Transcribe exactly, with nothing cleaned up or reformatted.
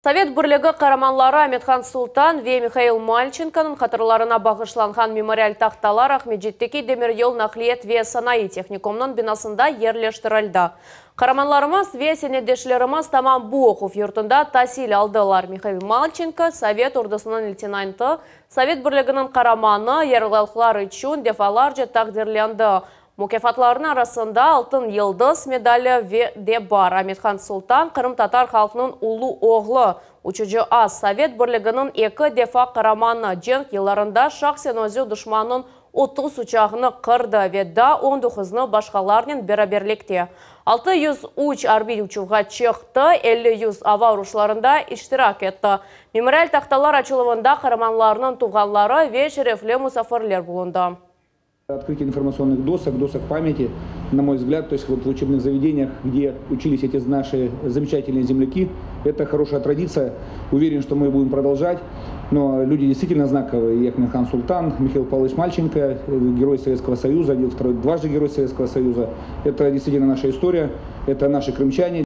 Sovet Birligi qaramanları Amethan Sultan ve Mihail Malçenkonıñ hatıralarına bağışlanğan memorial tahtalar Aqmescitteki Demiryol naqliyat ve sanayı tehnikumınıñ binasında yerleştirildi. Qaramanlarımız ve semetdeşlerimiz tamam bu oquv yurtunda tasil aldılar. Mihail Malçenko, Sovet ordusınıñ leytenantı, Sovet Birliginiñ qaramanı, yararlıqları içün defalarca taqdirlendi. Mukâfatlarınıñ arasında Altın Yıldız medali ve de bar. Amethan Sultan qırımtatar halqınıñ ulu oğlu, uçucı as, Sovet Birliginiñ eki defa qaramanı, cenk yıllarında şahsen özü duşmannıñ otuz uçağını qırdı ve daa on doquznı başqalarnen beraberlikte. altı yüz üç arbiy uçuvğa çıqtı, elli yüz ava uruşlarında iştirak etti. Memorial tahtalar açıluvında qaramanlarnıñ tuvğanları ve şerefli musafirler bulundı. Открытие информационных досок, досок памяти, на мой взгляд, то есть вот в учебных заведениях, где учились эти наши замечательные земляки, это хорошая традиция. Уверен, что мы будем продолжать. Но люди действительно знаковые. И Ахмедхан Султан, Михаил Павлович Мальченко, э, герой Советского Союза, один, второй, дважды герой Советского Союза. Это действительно наша история, это наши крымчане.